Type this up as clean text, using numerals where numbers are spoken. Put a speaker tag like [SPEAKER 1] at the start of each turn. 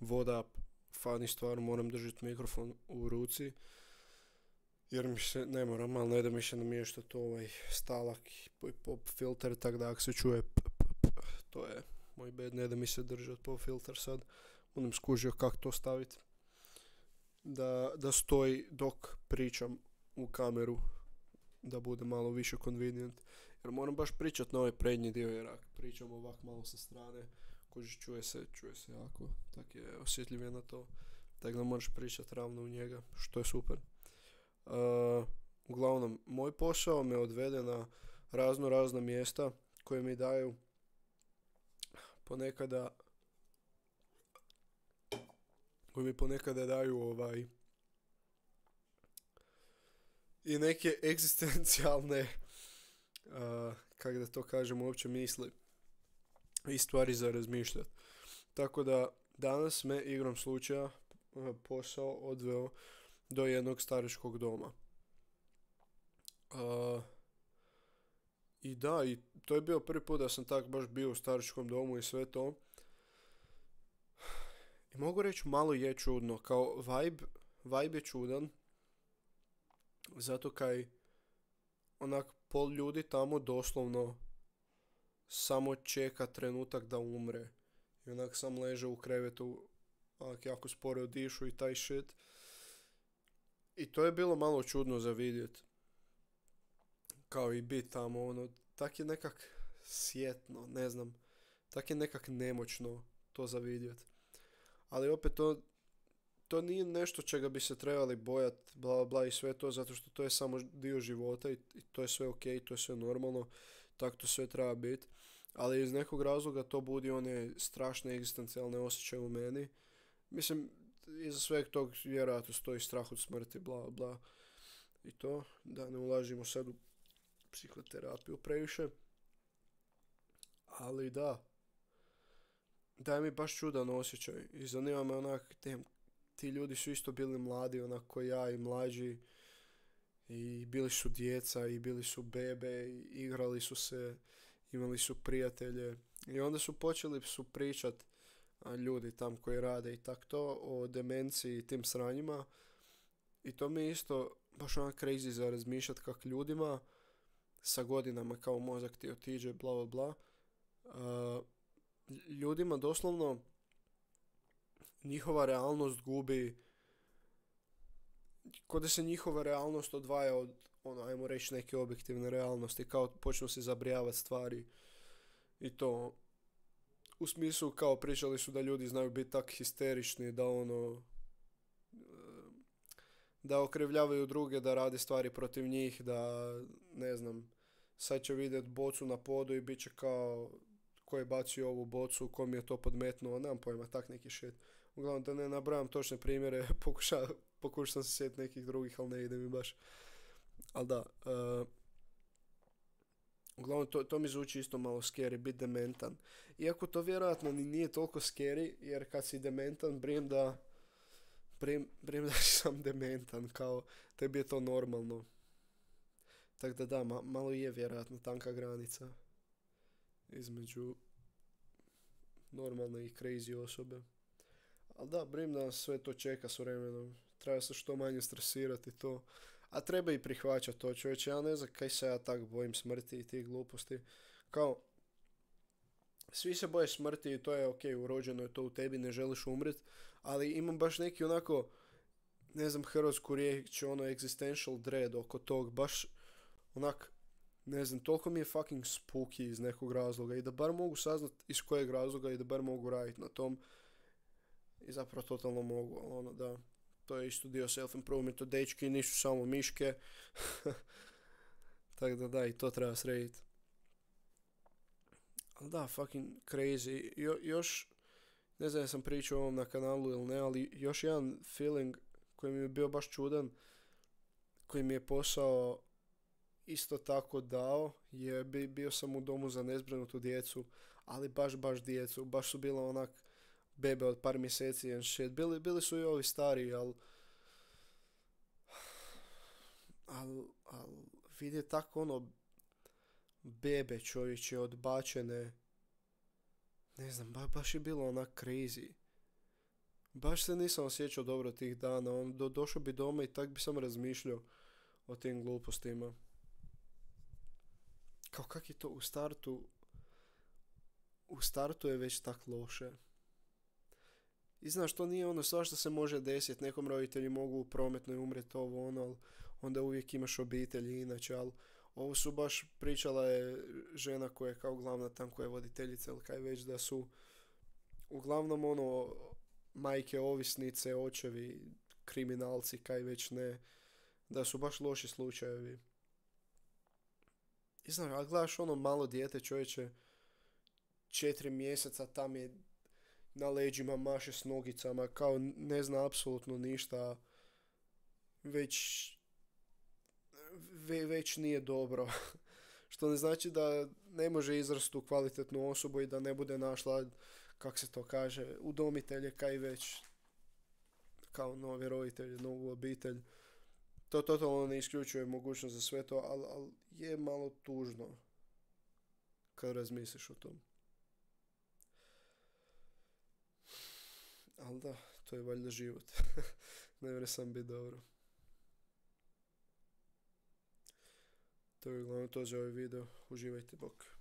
[SPEAKER 1] voda, fani stvar, moram držati mikrofon u ruci, jer mi se, ne moram, ali ne da mi se namješta to stalak i pop filter, tako da ako se čuje to je moj bed, ne da mi se držati pop filter sad, budem skužio kako to staviti, da stoji dok pričam u kameru, da bude malo više convenient, jer moram baš pričat na ovaj prednji dio, jer ako pričam ovak malo sa strane, koži čuje se jako, tak je osjetljiv na to, tako da moraš pričat ravno u njega, što je super. Uglavnom, moj posao me odvede na razna mjesta koje mi daju ponekada daju i neke egzistencijalne kako da to kažem uopće misli i stvari za razmišljati. Tako da danas me igrom slučaja posao odveo do jednog staračkog doma. I da, i to je bio prvi put da sam tak baš bio u staračkom domu i sve to. I mogu reći malo je čudno, kao vibe je čudan, zato kaj onak pol ljudi tamo doslovno samo čeka trenutak da umre. I onak sam leže u krevetu, onak jako sporo dišu i taj shit. I to je bilo malo čudno za vidjet. Kao i bit tamo, tak je nekak sjetno, ne znam, tak je nekak nemoćno to za vidjet. Ali opet to nije nešto čega bi se trebali bojati, bla bla i sve to, zato što to je samo dio života i to je sve ok, to je sve normalno, tako to sve treba biti. Ali iz nekog razloga to budi one strašne egzistencijalne osjećaje u meni. Mislim, iza sveg tog vjerojatno stoji strah od smrti, bla bla. I to, da ne ulažimo sad u psihoterapiju previše. Ali da, daje mi baš čudan osjećaj i zanima me onak, ti ljudi su isto bili mladi, onako ja i mlađi, i bili su djeca i bili su bebe i igrali su se, imali su prijatelje i onda su počeli pričat ljudi tam koji rade i tak to o demenciji i tim sranjima i to mi je isto baš onak crazy za razmišljat kak ljudima sa godinama kao mozak ti otiđe bla bla bla, ljudima doslovno njihova realnost gubi, kod da se njihova realnost odvaja od ajmo reći neke objektivne realnosti, kao počnu se zabrijavati stvari i to u smislu kao pričali su da ljudi znaju biti tak histerični da da okrivljavaju druge, da rade stvari protiv njih, da ne znam, sad će vidjeti bocu na podu i bit će kao ko je bacio ovu bocu, ko mi je to podmetnuo, nemam pojma, tak neki shit. Uglavnom da ne nabrajam točne primjere, pokušam se sjetiti nekih drugih, ali ne ide mi baš. Ali da, uglavnom to mi zvuči isto malo scary, biti dementan. Iako to vjerojatno ni nije toliko scary, jer kad si dementan, brim da sam dementan, kao tebi je to normalno. Tako da da, malo je vjerojatno tanka granica između normalne i crazy osobe. Ali da, brim da sve to čeka s vremenom. Treba se što manje stresirati to. A treba i prihvaćati to, čovječe. Ja ne znam kaj se ja tak bojim smrti i tih gluposti. Kao, svi se boje smrti i to je ok, urođeno je to u tebi, ne želiš umrit. Ali imam baš neki onako, ne znam, hrvatsku riječ, existential dread oko tog. Baš onak, ne znam, toliko mi je fucking spooky iz nekog razloga i da bar mogu saznat iz kojeg razloga i da bar mogu raditi na tom. I zapravo totalno mogu, da, to je isto dio self-improvementa, dečki nisu samo miške. Tako da, i to treba srediti. Ali da, fucking crazy. Još, ne znam, ja sam pričao o ovom na kanalu ili ne, ali još jedan feeling koji mi je bio baš čudan, koji mi je posao isto tako dao, je bio sam u domu za nezbrinutu djecu, ali baš djecu, baš su bila onak bebe od par mjeseci and shit. Bili su i ovi stariji, ali vidje tako bebe čovječe odbačene, ne znam, baš je bilo onak crazy. Baš se nisam osjećao dobro tih dana, došao bi doma i tak bi sam razmišljao o tim glupostima. Kao kak je to u startu je već tak loše. I znaš, to nije ono, svašta se može desiti, nekom roditelji mogu u prometnoj umret ovo ono, ali onda uvijek imaš obitelji inače, ali ovo su baš, pričala je žena koja je kao glavna tam, koja je voditeljica ili kaj već, da su uglavnom ono, majke ovisnice, očevi, kriminalci, kaj već ne, da su baš loši slučajevi. I znaš, ali gledaš ono malo dijete, čovječe, 4 mjeseca tam je na leđima, maše s nogicama, kao ne zna apsolutno ništa, već, već nije dobro. Što ne znači da ne može izrasti u kvalitetnu osobu i da ne bude našla, kak se to kaže, udomitelje, kaj već, kao novi roditelji, novu obitelj. To totalno ne isključuje mogućnost za sve to, ali je malo tužno kad razmisliš o tom. Ali da, to je valjda život. Ne mre sam biti dobro. To je uglavnom to za ovaj video. Uživajte, bok.